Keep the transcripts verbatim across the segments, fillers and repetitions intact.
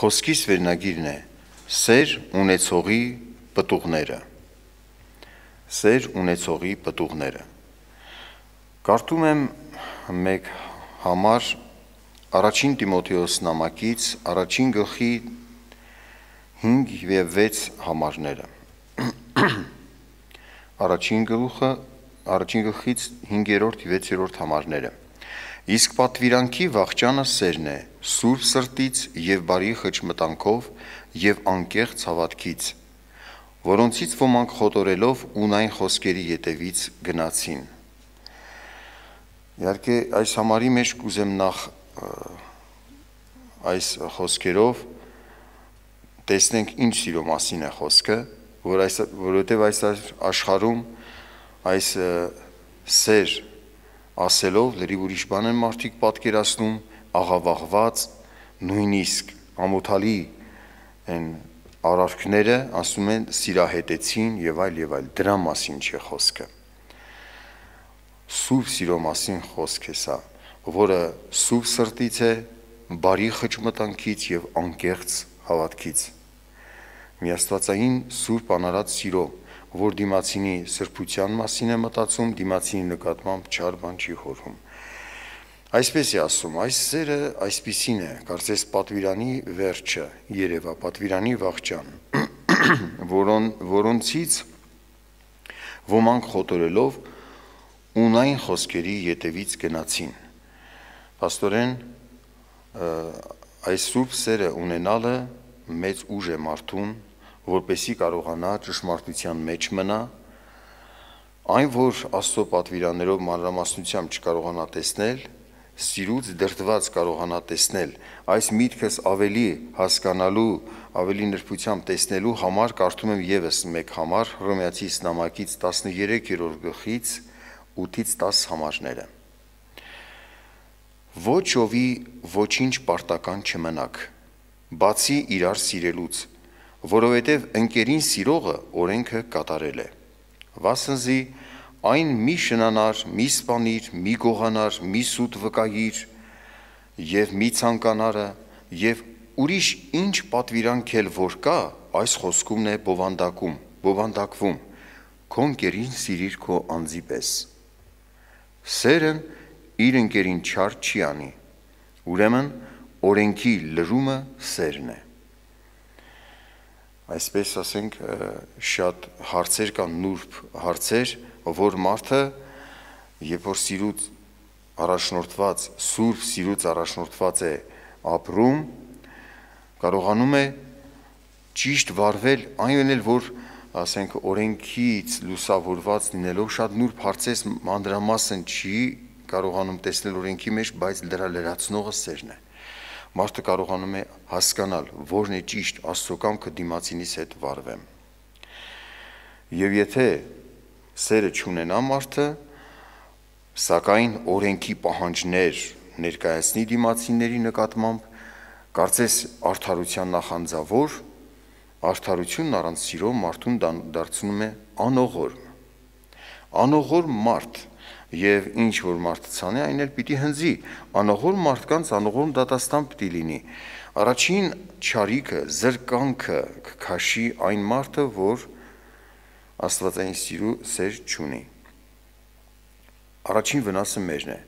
Խոսքիս վերնագիրն է սեր ունեցողի պտուղները։ Սեր ունեցողի պտուղները։ Կարդում եմ մեկ համար առաջին Տիմոթեոս նամակից առաջին գլխի հինգ և վեց համարները։ Առաջին գլուխը առաջին գլխից հինգերորդ և վեցերորդ համարները։ Իսկ պատվիրանքի վախճանը սերն է, սուրբ սրտից և բարի խճմտանքով և անկեղծ հավատքից, որոնցից ոմանք խոտորելով ունայն խոսքերի ետևից գնացին։ Իհարկե այս համարի մեջ կուզեմ նախ այս խոսքերով տեսնենք ինչ սիրո մասին է խոսքը, որ այս, որովհետև այս աշխարհում այս սեր ասելով լրիվ ուրիշ բան են մարդիկ պատկերացնում, աղավաղված, նույնիսկ ամոթալի են արարքները, ասում են սիրահետեցին և այլ և այլ, դրա մասին չէ խոսքը։ Սուրբ սիրո մասին խոսք է սա, որը սուրբ սրտից է, բարի խճմտանքից և անկեղծ հավատքից։ Միաստվածային սուրբ անարած սիրո, որ դիմացինի սրբության մասին է մտածում, դիմացինի նկատմամբ չար բան չի խորհում։ Այսպես է ասում, այս սերը այսպիսին է, կարծես պատվիրանի վերջը երևա, պատվիրանի վախճան, որոն, որոնցից ոմանք խոտորելով ունայն խոսքերի ետևից գնացին։ Փաստորեն այս սուրբ սերը ունենալը մեծ ուժ է մարդուն, որպեսզի կարողանա ճշմարտության մեջ մնա, այն որ Աստծո պատվիրաններով մանրամասնությամբ չկարողանա տեսնել, սիրուց դրդված կարողանա տեսնել, այս միտքս ավելի հասկանալու, ավելի նրբությամբ տեսնելու համար կարդում եմ ևս մեկ համար Հռոմեացիս նամակից տասներեքերորդ գլխից ութից տաս համարները։ Ոչ ովի ոչինչ պարտական չմնաք, բացի իրար սիրելուց, որովհետև ընկերին սիրողը օրենքը կատարել է։ Վասնզի այն մի շնանար, մի սպանիր, մի գողանար, մի սուտ վկայիր և մի ցանկանարը և ուրիշ ինչ պատվիրանք էլ որ կա, այս խոսքումն է բովանդակում, բովանդակվում, քո ընկերին սիրիր քո անձի պես։ Սերն իր ընկերին չար չի անի, ուրեմն օրենքի լրումը սերն է։ Այսպես ասենք շատ հարցեր կան, նուրբ հարցեր, որ մարդը երբ որ սիրուց առաջնորդված, սուրբ սիրուց առաջնորդված է ապրում, կարողանում է ճիշտ վարվել, այն էլ որ ասենք օրենքից լուսավորված լինելով շատ նուրբ հարցեր մանրամասն չի կարողանում տեսնել օրենքի մեջ, բայց դրա լրացնողը սերն է։ Մարդը կարողանում է հասկանալ, որն է ճիշտ Աստծո կամքը դիմացինիս հետ վարվեմ։ Եվ եթե սերը չունենա մարդը, սակայն օրենքի պահանջներ ներկայացնի դիմացինների նկատմամբ, կարծես արդարության նախանձավոր, արդարությունն առանց սիրո մարդուն դարձնում է անողոր։ Անողոր մարդ և ինչ որ մարդը ցանի, այն էլ պիտի հնձի, անողոր մարդկանց անողոր դատաստան պիտի լինի։ Առաջին չարիքը, զրկանքը կքաշի այն մարդը, որ աստվածային սիրո սեր չունի։ Առաջին վնասը մերն է։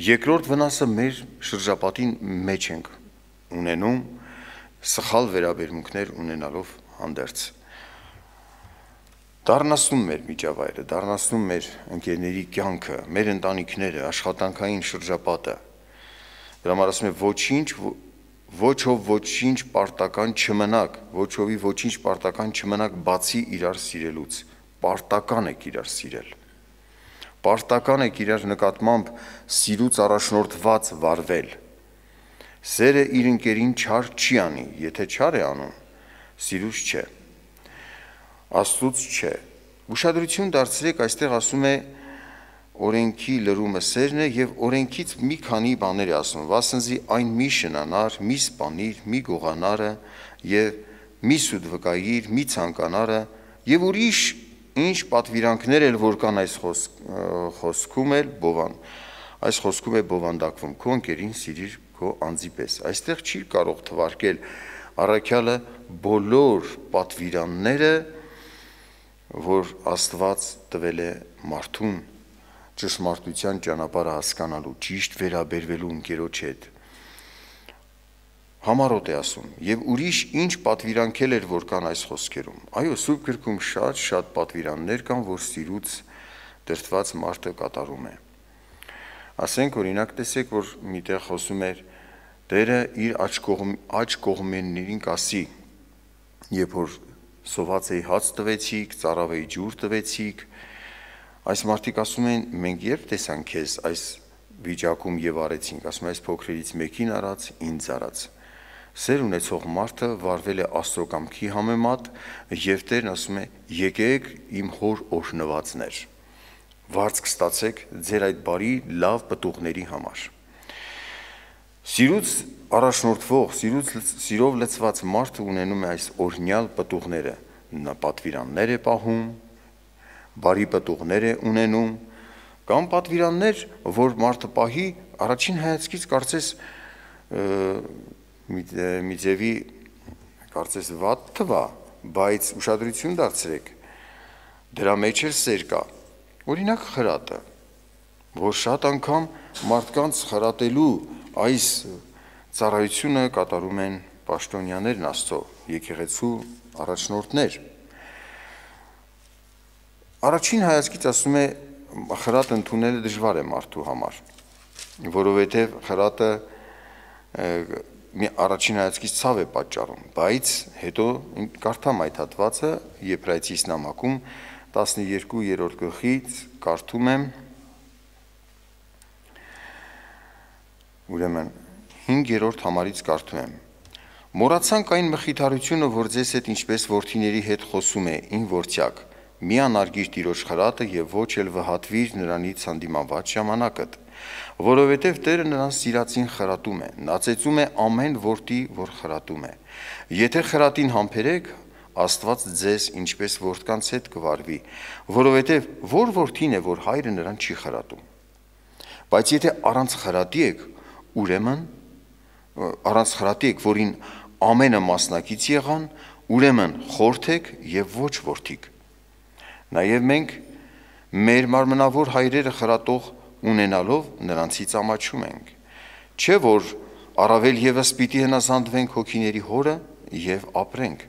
Երկրորդ վնասը մեր շրջապատի մեջ ենք ունենում, սխալ վերաբերմունքներ ունենալով հանդերձ։ Դառնացնում մեր միջավայրը, դառնացնում մեր ընկերների կյանքը, մեր ընտանիքները, աշխատանքային շրջապատը։ Դրա համար ասում է ոչինչ, ոչ ով ոչինչ պարտական չմնաք, ոչ ովի ոչինչ պարտական չմնաք, բացի իրար սիրելուց։ Պարտական եք իրար սիրել։ Պարտական եք իրար նկատմամբ սիրուց առաջնորդված վարվել։ Սերը իր ընկերին չար չի անի, եթե չար է անում, սիրուց չէ, Աստծուց չէ։ Ուշադրություն դարձրեք, այստեղ ասում է օրենքի լրումը սերն է և օրենքից մի քանի բաներ է ասում, վասնզի այն մի շնանար, մի սպանիր, մի գողանարը և մի սուտ վկայիր, մի ցանկանարը և ուրիշ ինչ պատվիրանքներ էլ որ կան այս խոսքում էլ բովան, այս խոսքում է բովանդակվում, քո ընկերին սիրիր քո անձի պես։ Այստեղ չի կարող թվարկել առաքյալը բոլոր պատվիրանները, որ Աստված տվել է մարդուն, ճշմարտության ճանապարհը հասկանալու, ճիշտ վերաբերվելու ընկերոջ հետ, համառոտ է ասում, եւ ուրիշ ինչ պատվիրանքել էր, որ կան այս խոսքերում։ Այո, Սուրբ գրքում շատ շատ պատվիրաններ կան, որ սիրուց դրդված մարդը կատարում է։ Ասենք օրինակ տեսեք, որ միտեղ խոսում էր Տերը իր աջ կողմ աջ կողմերներին կասի, երբ որ սոված էի հաց տվեցիք, ծարավ էի ջուր տվեցիք, այս մարդիկ ասում են, մենք երբ տեսանք քեզ այս վիճակում եւ արեցինք, ասում այս փոքրերից մեկին արած, ինձ արած։ Սեր ունեցող մարդը վարվել է Աստծո կամքի համեմատ եւ Տերն ասում է, եկեք իմ հոր օրհնվածներ։ Վարձք ստացեք ձեր այդ բարի լավ պտուղների համար։ Սիրուց առաջնորդվող, սիրուց սիրով լցված մարդը ունենում է այս օրհնյալ պտուղները, նա պատվիրաններ է պահում, բարի պտուղներ է ունենում, կամ պատվիրաններ, որ մարդը պահի, առաջին հայացքից կարծես մի ձևի կարծես վատ թվա, բայց ուշադրություն դարձրեք, դրա մեջ էլ սեր կա, օրինակ խրատը, որ շատ անգամ մարդկանց խրատելու այս ծառայությունը կատարում են պաշտոնյաներն Աստծո, եկեղեցու առաջնորդներ։ Առաջին հայացքից ասում է, խրատ ընդունելը դժվար է մարդու համար, որովհետև խրատը մի առաջին հայացքից ցավ է պատճառում, բայց հետո կարդամ այդ հատվածը Եբրայեցիս նամակում տասներկուերորդ գլխից կարդում եմ, ուրեմն հինգերորդ համարից կարդում եմ. Մոռացանք այն մխիթարությունը, որ ձեզ հետ ինչպես որդիների հետ խոսում է, ին որդյակ, մի անարգիր Տիրոջ խրատը եւ ոչ էլ վհատվիր նրանից հանդիմաված ժամանակդ, որովհետև Տերը նրան սիրածին խրատում է, նա ծեծում է ամեն որդի, որ խրատում է։ Եթե խրատին համբերեք, Աստված ձեզ ինչպես որդկանց հետ կվարվի, որովհետև որ որդին է, որ հայրը նրան չի խրատում։ Բայց եթե առանց խրատի եք, ուրեմն առանց խրատի եք, որին ամենը մասնակից եղան, ուրեմն խորթ եք եւ ոչ որդիկ։ Նաեւ մենք մեր մարմնավոր հայրերը խրատող ունենալով նրանցից ամաչում ենք։ Չէ որ առավել եւս պիտի հնազանդվենք հոգիների հորը եւ ապրենք,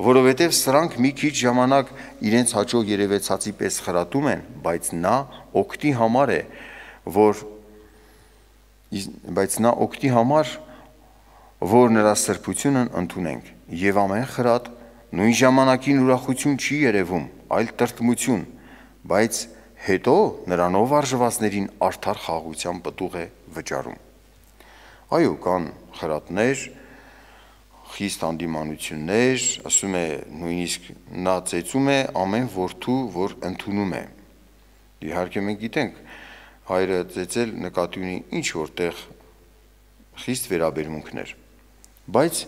որովհետեւ սրանք մի քիչ ժամանակ իրենց հաճո երևեցածի պես խրատում են, բայց նա օգտի համար է, որ բայց նա օգտի համար, որ նրա սրբությունն ընդունենք, եւ ամեն խրատ նույն ժամանակին ուրախություն չի երևում, այլ տրտմություն, բայց հետո նրանով արժվածներին արդար խաղաղության պտուղ է վճարում։ Այո, կան խրատներ, խիստ հանդիմանություններ, ասում է նույնիսկ նա ծեծում է ամեն որդու, որ ընդունում է։ Իհարկե մենք գիտենք, հայրը ծեծել նկատի ունի ինչ որտեղ խիստ վերաբերմունքներ, բայց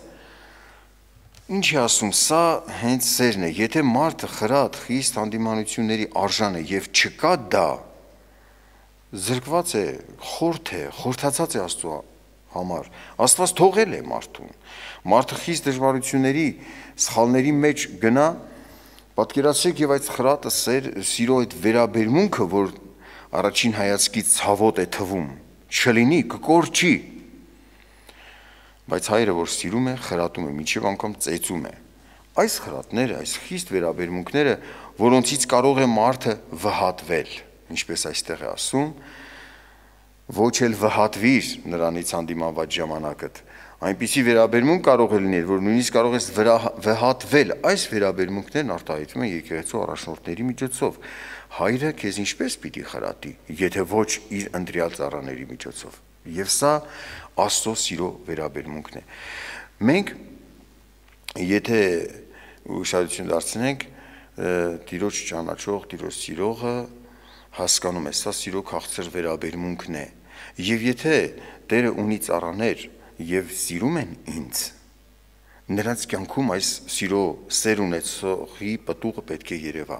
ինչ է ասում, սա հենց սերն է, եթե մարդը խրատ, խիստ հանդիմանությունների արժան է եւ չկա դա, զրկված է, խորթ է, խորթացած է Աստծո համար, Աստված թողել է մարդուն, մարդը խիստ դժվարությունների, սխալների մեջ գնա, պատկերացրեք եւ այդ խրատը սեր, սիրո այդ վերաբերմունքը, որ առաջին հայացքից ցավոտ է թվում, չլինի, կկորչի, բայց հայրը, որ սիրում է, խրատում է, մինչև անգամ ծեծում է։ Այս խրատները, այս խիստ վերաբերմունքները, որոնցից կարող է մարդը վհատվել, ինչպես այստեղ է ասում, ոչ էլ վհատվիր նրանից հանդիմաված ժամանակդ, այնպիսի վերաբերմունք կարող է լինել, որ նույնիսկ կարող ես վհատվել, այս վերաբերմունքներն արտահայտվում են եկեղեցու առաջնորդների միջոցով։ Հայրը քեզ ինչպես պիտի խրատի, եթե ոչ իր ընտրյալ ծառաների միջոցով։ Եվ սա Աստծո սիրո վերաբերմունքն է։ Մենք եթե ուշադրություն դարձնենք, Տիրոջ ճանաչող, Տիրոջ սիրողը հասկանում է, սա սիրո քաղցր վերաբերմունքն է։ Եվ եթե Տերը ունի ծառաներ եւ սիրում են ինձ, նրանց կյանքում այս սիրո սեր ունեցողի պտուղը պետք է երևա։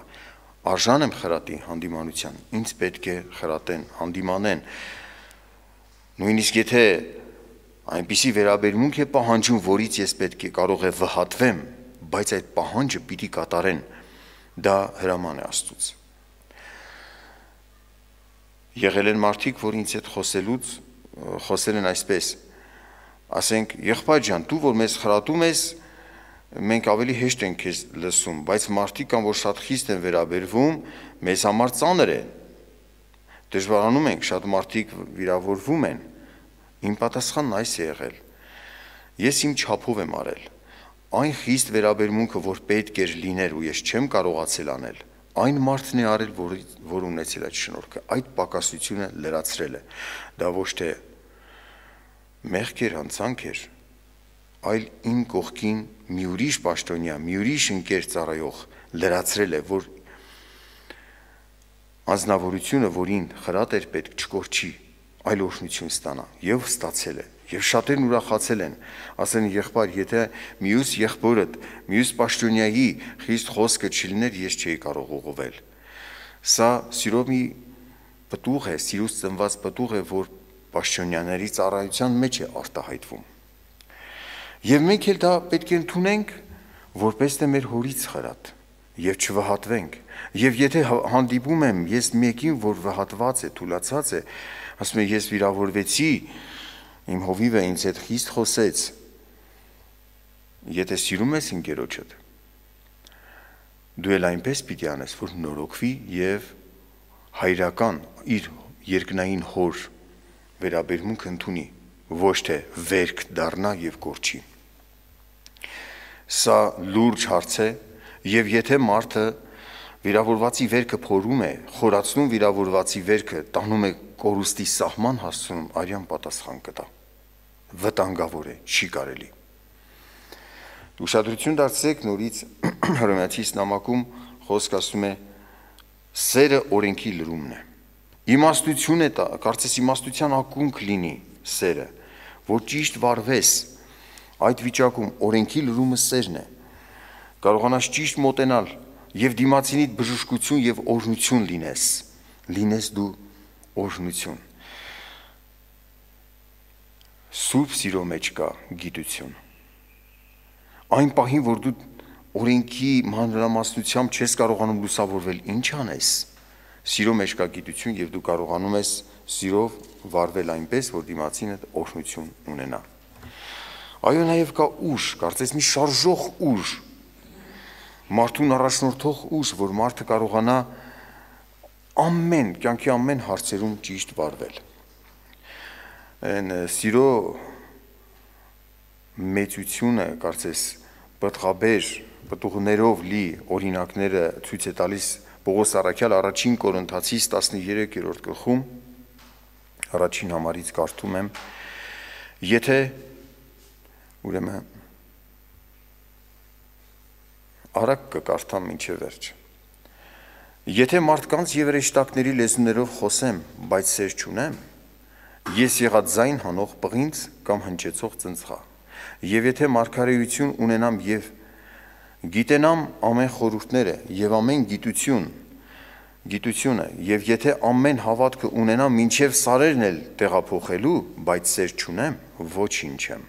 Արժան եմ խրատի, հանդիմանության, ինձ պետք է խրատեն, հանդիմանեն։ Նույնիսկ եթե այնպիսի վերաբերմունք է պահանջում, որից ես պետք է կարող է վհատվեմ, բայց այդ պահանջը պիտի կատարեն, դա հրաման է Աստծուց։ Եղել են մարդիկ, որ ինձ հետ խոսելուց խոսել են այսպես, ասենք, եղբայր ջան, դու որ մեզ խրատում ես, մենք ավելի հեշտ ենք քեզ լսում, բայց մարդիկ կան, որ շատ խիստ են վերաբերվում, մեզ համար ծանր է, դժվարանում ենք, շատ մարդիկ վիրավորվում են, իմ պատասխանն այս է եղել, ես իմ չափով եմ արել, այն խիստ վերաբերմունքը, որ պետք էր լիներ ու ես չեմ կարողացել անել, այն մարդն է արել, որ, որ ունեցել այդ շնորհքը, այդ պակասությունը լրացրել է, դա ոչ թե մեղք էր, հանցանք էր, այլ իմ կողքին մի ուրիշ պաշտոնյա, մի ուրիշ ընկեր ծառայող լրացրել է, որ անձնավորությունը, որին խրատ էր պետք չկորչի, այլ օրհնություն ստանա, եւ ստացել է, եւ շատերն ուրախացել են, ասեն եղբայր, եթե մյուս եղբորդ, մյուս պաշտոնյայի խիստ խոսքը չլիներ, ես չէի կարող ուղղվել։ Սա սիրով մի պտուղ է, սիրուց ծնված պտուղ է, որ պաշտոնյաների ծառայության մեջ է արտահայտվում։ Եվ մենք էլ դա պետք է ընդունենք, որպես թե մեր հորից խրատ, եւ չվհատվենք։ Եվ եթե հանդիպում եմ ես մեկին, որ վհատված է, թուլացած է, ասում եմ ես վիրավորվեցի, իմ հովիվը ինձ հետ խիստ խոսեց, եթե սիրում ես ընկերոջդ, դու էլ այնպես պիտի անես, որ նորոգվի եւ հայրական իր երկնային հոր վերաբերմունք ընդունի, ոչ թե վերք դառնա եւ կորչի։ Սա լուրջ հարց է, եւ եթե մարդը վիրավորվածի վերքը փորում է, խորացնում վիրավորվածի վերքը, տանում է կորուստի սահման հասցնում, արյան պատասխան կտա։ Վտանգավոր է, չի կարելի։ Ուշադրություն դարձրեք նորից Հռոմեացիս նամակում խոսք ասում է սերը օրենքի լրումն է։ Իմաստություն է տա, կարծես իմաստության ակունք լինի սերը, որ ճիշտ վարվես, այդ վիճակում օրենքի լրումը սերն է։ Կարողանաս ճիշտ մոտենալ եւ դիմացինիդ բժշկություն եւ օրհնություն լինես, լինես դու օրհնություն։ Սուրբ սիրո մեջ կա գիտություն։ Այն պահին, որ դու օրենքի մանրամասնությամբ չես կարողանում լուսավորվել, ինչ անես։ Սիրո մեջ կա գիտություն եւ դու կարողանում ես սիրով վարվել այնպես, որ դիմացինդ օրհնություն ունենա։ Այո, նաեւ կա ուժ, կարծես մի շարժող ուժ, մարդուն առաջնորդող ուժ, որ մարդը կարողանա ամեն, կյանքի ամեն հարցերում ճիշտ վարվել։ Այն սիրո մեծությունը, կարծես պտղաբեր, պտուղներով լի օրինակները ցույց է տալիս Պողոս առաքյալ առաջին Կորինթացիս տասներկրորդ գլխում, առաջին համարից կարդում եմ, եթե ուրեմն արագ կկարդամ մինչև վերջ։ Եթե մարդկանց եւ հրեշտակների լեզուներով խոսեմ, բայց սեր չունեմ, ես եղած ձայն հանող պղինձ կամ հնչեցող ծնծղա։ Եվ եթե մարգարեություն ունենամ եւ գիտենամ ամեն խորհուրդները եւ ամեն գիտություն, գիտությունը, եւ եթե ամեն հավատքը ունենամ մինչև սարերն էլ տեղափոխելու, բայց սեր չունեմ, ոչինչ եմ։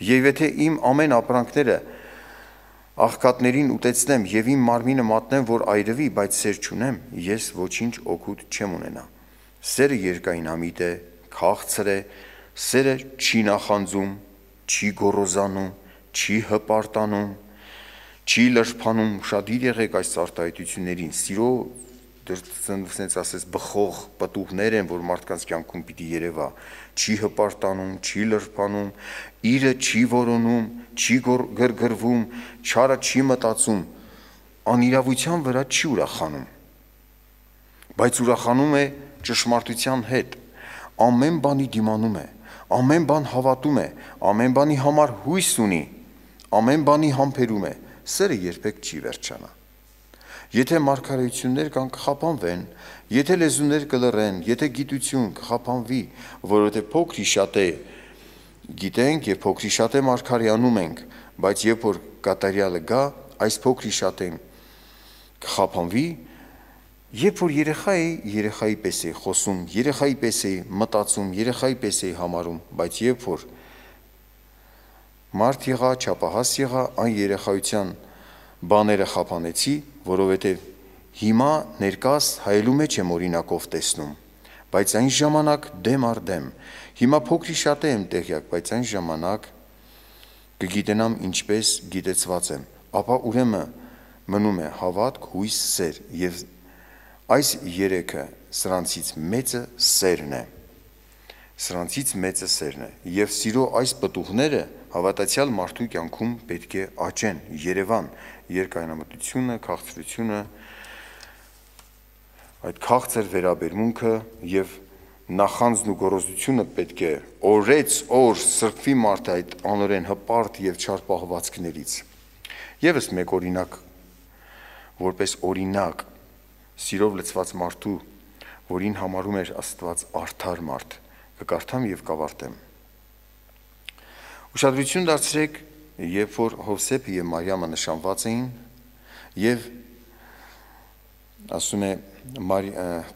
Եվ եթե իմ ամեն ապրանքները աղքատներին ուտեցնեմ եւ իմ մարմինը մատնեմ, որ այրվի, բայց սեր չունեմ, ես ոչինչ օգուտ չեմ ունենա։ Սերը երկայնամիտ է, քաղցր է, սերը չի նախանձում, չի գոռոզանում, չի հպարտանում, չի լրփանում, ուշադիր եղեք այս արտահայտություններին, սիրո դրսից ասես բխող պտուղներ են, որ մարդկանց կյանքում պիտի երևա, չի հպարտանում, չի լրփանում, իրը չի որոնում, չի գրգռվում, չարը չի մտածում, անիրավության վրա չի ուրախանում, բայց ուրախանում է ճշմարտության հետ, ամեն բանի դիմանում է, ամեն բան հավատում է, ամեն բանի համար հույս ունի, ամեն բանի համբերում է, սերը երբեք չի վերջանա։ Եթե մարգարեություններ կան կխափանվեն, եթե լեզուներ կլռեն, եթե գիտություն կխափանվի, որովհետև փոքրի շատ է գիտենք եւ փոքրի շատ է մարգարեանում ենք, բայց երբ որ կատարյալը գա, այս փոքրի շատ են կխափանվի Երբ որ երեխա էի, երեխայի պես էի խոսում, երեխայի պես էի մտածում, երեխայի պես էի համարում, բայց երբ որ մարդ եղա, չափահաս եղա, այն երեխայության բաները խափանեցի, որովհետև հիմա ներկաս հայելու մեջ եմ օրինակով տեսնում, բայց այն ժամանակ դեմ առ դեմ, հիմա փոքրի շատ եմ տեղյակ, բայց այն ժամանակ կգիտենամ ինչպես գիտեցված եմ, ապա ուրեմն մնում է հավատք, հույս, սեր, և այս երեքը սրանցից մեծը սերն է, սրանցից մեծը սերն է, և սիրո այս պտուղները հավատացյալ մարդու կյանքում պետք է աճեն, երևան, երկայնամտությունը, քաղցրությունը, այդ քաղցր վերաբերմունքը և նախանձն ու գոռոզությունը պետք է օրեց օր սրբվի մարդը այդ անօրեն հպարտ և չար պահվածքներից։ Եվս մեկ օրինակ, որպես օրինակ սիրով լցված մարդու, որին համարում էր Աստված արդար մարդ, կկարդամ և կավարտեմ։ Ուշադրություն դարձրեք, երբ որ Հովսեփը և Մարիամը նշանված էին, և ասում է,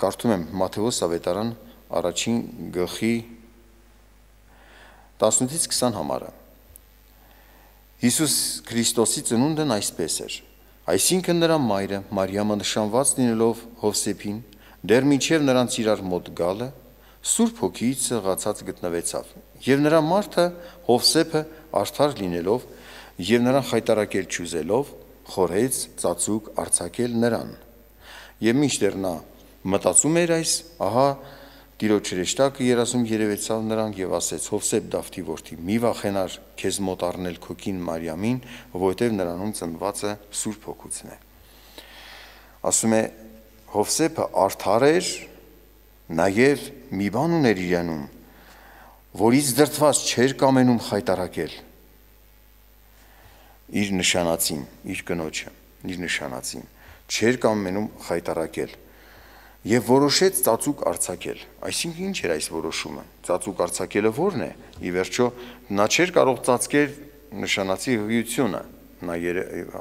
կարդում եմ Մատթեոս ավետարան առաջին գլխի տասնութից քսան համարը։ Հիսուս Քրիստոսի ծնունդն այսպես էր, այսինքն նրա մայրը Մարիամը նշանված լինելով Հովսեփին, դեռ մինչև նրանց իրար մոտ գալը, Սուրբ Հոգիից սեղացած գտնվեցավ, և նրա մարդը Հովսեփը արդար լինելով և նրան խայտառակել չուզելով, խորհեց ծածուկ արձակել նրան, և մինչդեռ նա մտածում էր այս, ահա Տիրոջ հրեշտակը երազում երևեցավ նրան և ասեց. Հովսեփ Դավթի որդի, մի վախենար քեզ մոտ առնել քո կին Մարիամին, որովհետև նրանում ծնվածը Սուրբ Հոգուց է։ Ասում է Հովսեփը արդար էր, նաև մի բան ուներ իրանում, որից դրդված չէր կամենում խայտառակել իր նշանածին, իր կնոջը, իր նշանածին, չէր կամենում խայտառակել և որոշեց ծածուկ արձակել։ Այսինքն ինչ էր այս որոշումը։ Ծածուկ արձակելը ո՞րն է։ Ի վերջո նա չէր կարող ծածկել նշանածի հղիությունը, նա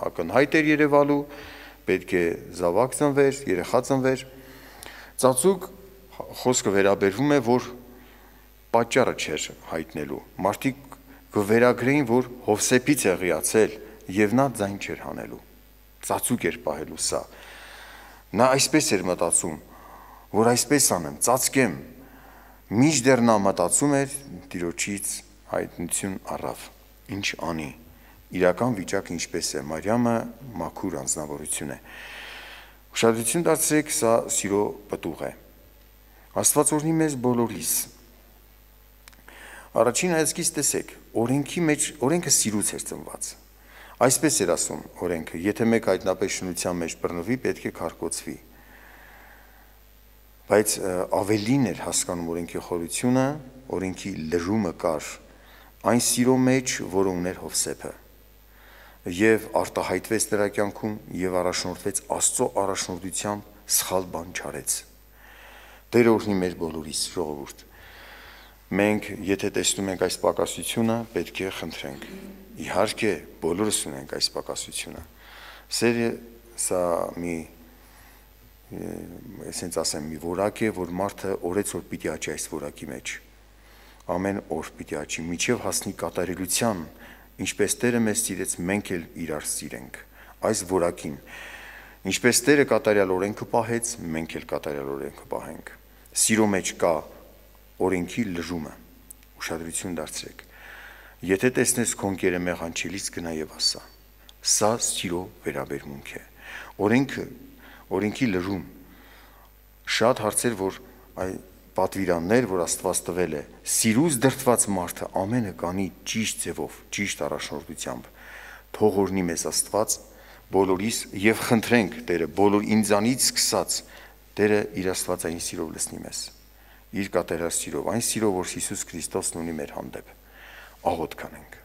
ակնհայտ էր երևալու, պետք է զավակ ծնվեր, երեխա ծնվեր։ Ծածուկ խոսքը վերաբերվում է, որ պատճառը չէր հայտնելու։ Մարդիկ կվերագրեին, որ Հովսեփից է հղիացել և նա ձայն չէր հանելու։ Ծածուկ էր պահելու սա։ Նա այսպես էր մտածում, որ այսպես անեմ, ծածկեմ, մինչդեռ նա մտածում էր, Տիրոջից հայտնություն առավ, ինչ անի, իրական վիճակը ինչպես է, Մարիամը մաքուր անձնավորություն է։ Ուշադրություն դարձրեք, սա սիրո պտուղ է։ Աստված օրհնի մեզ բոլորիս։ Առաջին հայացքից տեսեք, օրենքի մեջ, օրենքը սիրուց էր ծնված։ Այսպես էր ասում օրենքը, եթե մեկ հայտնապես շնության մեջ բռնվի, պետք է քարկոծվի։ Բայց ավելին էր հասկանում օրենքի խորությունը, օրենքի լրումը կար այն սիրո մեջ, որը ուներ Հովսեփը, և արտահայտվեց նրա կյանքում և առաջնորդվեց Աստծո առաջնորդությամբ, սխալ բան չարեց։ Տերը օրհնի մեր բոլորիս, ժողովուրդ։ Մենք, եթե տեսնում ենք այս պակասությունը, պետք է խնդրենք։ Իհարկե, բոլորս ունենք այս պակասությունը։ Սերը սա մի այսպես ասեմ, մի որակ է, որ մարդը օրեցօր պիտի աճի այս որակի մեջ։ Ամեն օր պիտի աճի, մինչև հասնի կատարելության, ինչպես Տերը մեզ սիրեց, մենք էլ իրար սիրենք այս որակին։ Ինչպես Տերը կատարյալ օրենքը պահեց, մենք էլ կատարյալ օրենքը պահենք։ Սիրո մեջ կա օրենքի լրումը։ Ուշադրություն դարձրեք։ Եթե տեսնես քո ընկերը մեղանչելիս, գնա եւ ասա։ Սա սիրո վերաբերմունք է։ Օրենքը, օրենքի լրում, շատ հարցեր, որ այ պատվիրաններ, որ Աստված տվել է, սիրուց դրդված մարդը ամենը կանի ճիշտ ձևով, ճիշտ առաջնորդությամբ։ Թող օրհնի մեզ Աստված բոլորիս եւ խնդրենք Տերը, բոլոր ինձանից սկսած, Տերը իր աստվածային սիրով լցնի մեզ։ Իր կատարյալ սիրով, այն սիրով, որ Հիսուս Քրիստոսն ունի մեր հանդեպ։ Աղոթք անենք։